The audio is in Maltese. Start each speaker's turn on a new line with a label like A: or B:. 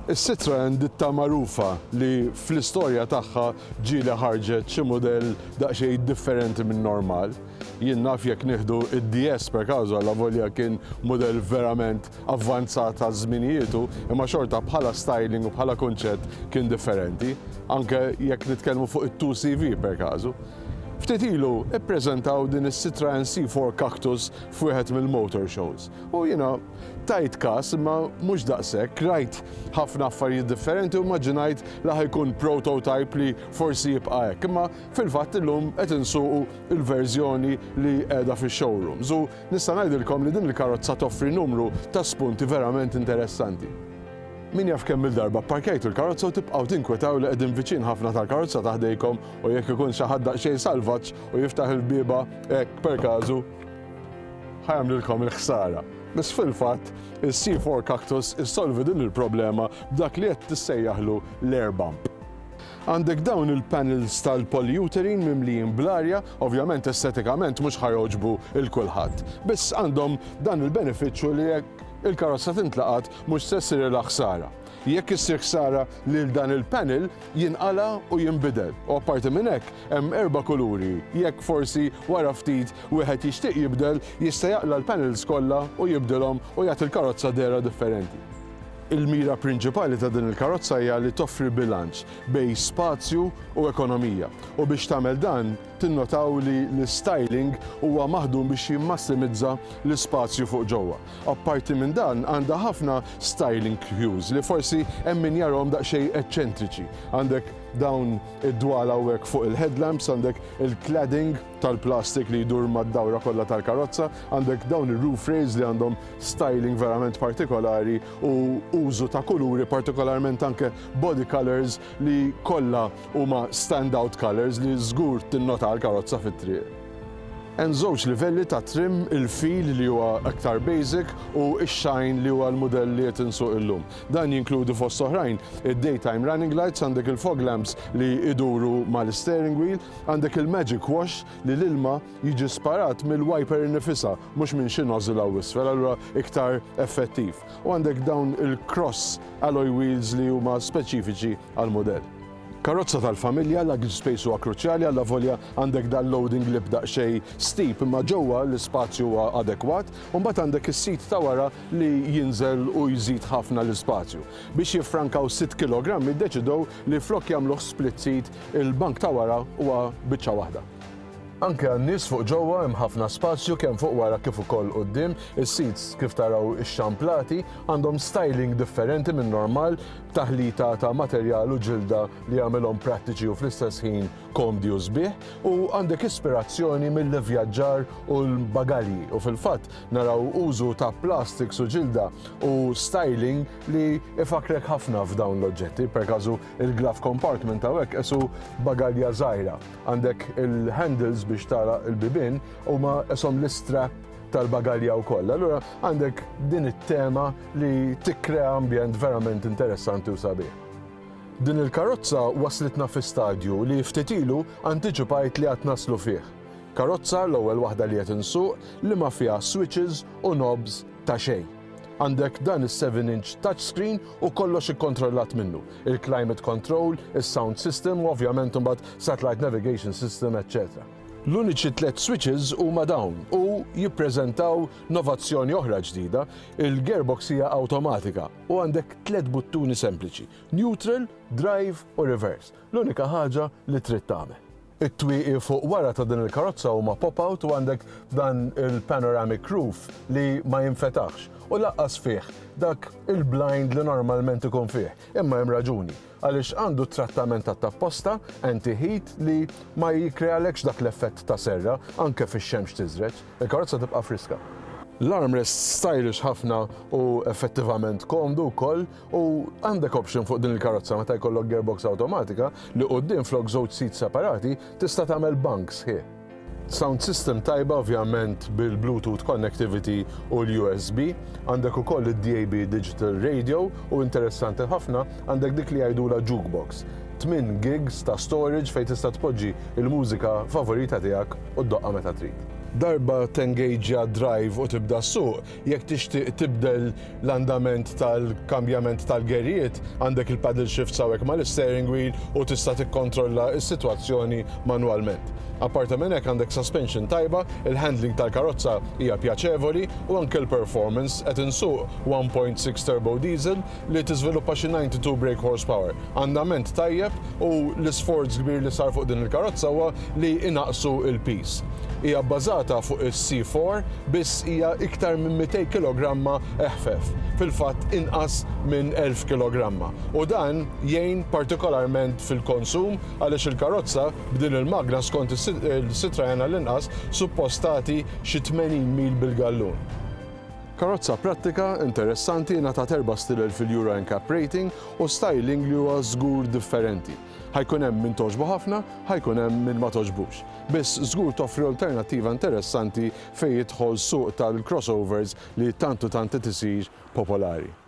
A: Is-Citroen ditta magħrufa li fl-istorja tagħha ġieli ħarġet xi mudell daqsxejn differenti min-normal. Jien naf jekk nieħdu id-DS per caso, allavolja kien mudell verament avvanzat għal żminijietu, imma xorta bħala styling u bħala kunċett kien differenti, anke jekk nitkellmu fuq it-2CV per caso. Ftit ilu ippreżentaw din is-Citroen C4 Cactus f'wieħed mill-motor shows u jiena tajt każ imma mhux daqshekk, rajt ħafna affarijiet differenti u immaġinajt li ħa jkun prototype li forsi jibqa' hekk. Imma fil-fatt illum qed insuqu l-verżjoni li qiegħda fix-showrooms u nista' ngħidilkom li din il-karozza toffri numru ta' spunti verament interessanti. Min jaf kemm-il darba pparkjajtu l-karozza u tibqgħu tinkwetaw li qegħdin viċin ħafna tal-karozza ta' ħdejkom u jekk ikun xi ħadd daqsxejn salvaġġ u jiftaħ il-bieba hekk per każu, ħa jagħmlilkom il-ħsara. Biss fil-fatt, is-C4 Cactus issolvi din il-problema b'dak li qed tissejjaħlu l-air bump. Għandek dawn il-panels tal-polyurethane mimlijin bl-arja, ovvjament estetikament mhux ħa jogħġbu 'l kulħadd. Biss għandhom dan il-benefiċċju li jekk il-karozza tintlaqat mhux se ssirilha ħsara. Jekk issir ħsara lil dan il-panel, jinqala' u jinbidel. U apparti minn hekk, hemm erba' kuluri. Jekk forsi wara ftit wieħed jixtieq jibdel, jista' jaqla' l-panels kollha u jibdilhom u jagħti l-karozza dehra differenti. Il-mira prinċipali ta' din il-karozza hija li toffri bilanċ bejn spazju u ekonomija. U biex tagħmel dan, tinnotaw li l-istyling huwa maħdum biex jimmassimizza l-ispazju fuq ġewwa. Apparti minn dan, għandha ħafna styling cues li forsi hemm min jarahom daqsxejn eċċentriċi. Għandek dawn id-dwal hawnhekk fuq il-headlamps, għandek il-cladding tal-plastik li jdur mad-dawra kollha tal-karozza, għandek dawn ir-roof rails li għandhom styling verament partikolari u użu ta' kuluri, partikolarment anke body colors li kollha huma stand-out colors li żgur tinnota l-karozza fit-triq. Hemm żewġ livelli ta' trim, il-feel li huwa aktar basic u x-shine li huwa l-mudell li qed insuq illum. Dan jinkludi fost oħrajn id-daytime running lights, għandek il-fog lamps li iduru mal-steering wheel, għandek il-magic wash li l-ilma jiġi sparat mill-wiper innifisha mhux minn xi nozzle hawn isfel, allura iktar effettiv. U għandek dawn il-cross alloy wheels li huma speċifiċi għall-mudell. Karozza tal-familja, luggage space huwa kruċjali allavolja għandek dal-loading lip daqsxejn steep imma ġewwa l-ispazju huwa adekwat u mbagħad għandek is-seat ta' wara li jinżel u jżid ħafna l-ispazju. Biex jiffrankaw sitt kilogrammi ddeċidew li flok jagħmluh split seat il-bank ta' wara huwa biċċa waħda. Anke għan-nies fuq ġewwa hemm ħafna spazju kemm fuq wara kif ukoll quddiem. Is-seats kif taraw ixxamplati għandhom styling differenti minn normal b'taħlita ta' materjal u ġilda li jagħmilhom prattiċi u fl-istess ħin komdi u sbieħ u għandek ispirazzjoni mill-ivvjaġġar u l-bagalji u fil-fatt naraw użu ta' plastics u ġilda u styling li ifakkrek ħafna f'dawn l-oġġetti. Per każu il-glove compartment hawnhekk qisu bagalja żgħira. Għandek il-handles biex tagħlaq il-bibien huma qishom l-istrap tal-bagalja wkoll. Allura għandek din it-tema li tikkrea ambjent verament interessanti u sabiħ. Din il-karozza waslitna fi stadju li ftit ilu antiċipajt li għad naslu fih. Karozza, l-ewwel waħda li qed insuq, li ma fiha switches u knobs ta' xejn. Għandek dan is-7 inch touchscreen u kollox ikkontrollat minnu. Il-climate control, is-sound system u ovvjament imbagħad satellite navigation system, eċċetera. L-uniċi tliet switches huma dawn u jippreżentaw novazzjoni oħra ġdida, il-gearbox hija awtomatika u għandek tliet buttuni sempliċi, neutral, drive u reverse. L-unika ħaġa li trid tagħmel. It-twieqi fuq wara ta' din il-karozza huma pop-out u għandek dan il-panoramic roof li ma jinfetaħx u lanqas fih dak il-blind li normalment ikun fih. Imma hemm raġuni, għaliex għandu trattament tat-tapposta anti-heat li ma jikkrealekx dak l-effett ta' serra anke fix-xemx tiżreġ. Il-karozza tibqa' friska. L-armrest stylish ħafna u effettivament komdu wkoll U għandek option fuq din il-karozza meta jkollok gearbox awtomatika li quddiem flok żewġ seats separati tista' tagħmel bank sħiħ. Sound system tajba ovvjament bil-Bluetooth connectivity u l-USB. Għandek ukoll id-DAB Digital Radio u interessanti ħafna għandek dik li jgħidulha jukebox. 8 gigs ta' storage fejn tista' tpoġġi l-mużika favorita tiegħek u ddoqqha meta trid. Darba tengejġja drive u tibda ssuq, jekk tixtieq tibdel l-andament tal-kambjament tal-gerijiet, għandek il-paddle shifts hawnhekk mal-isteering wheel u tista' tikkontrolla s-sitwazzjoni manwalment. Apparti minn hekk għandek suspension tajba, il-handling tal-karozza hija pjaċevoli u anke l-performance. Qed insuq 1.6 turbo diesel li tiżviluppa xi 92 brake horsepower. Andament tajjeb u l-isforz kbir li sar fuq din il-karozza huwa li inaqqsu l-piż. Hija bbażata fuq is-C4 biss hija iktar minn 200 kilogramma eħfef, fil-fatt inqas minn 1000 kilogramma. U dan jgħin partikolarment fil-konsum għaliex il-karozza b'din il-magna skont il-Citroen għall-inqas suppost tagħti xi 80 mil bil-gallun. Karozza prattika, interessanti, ngħatat 4 stilel fil-Euro NCAP rating u styling li huwa żgur differenti. Ħa jkun hemm min togħġbu ħafna, ħa jkun hemm min ma togħġbux. Biss żgur toffri alternattiva interessanti fejn jidħol suq tal-crossovers li tant u tant qed isir popolari.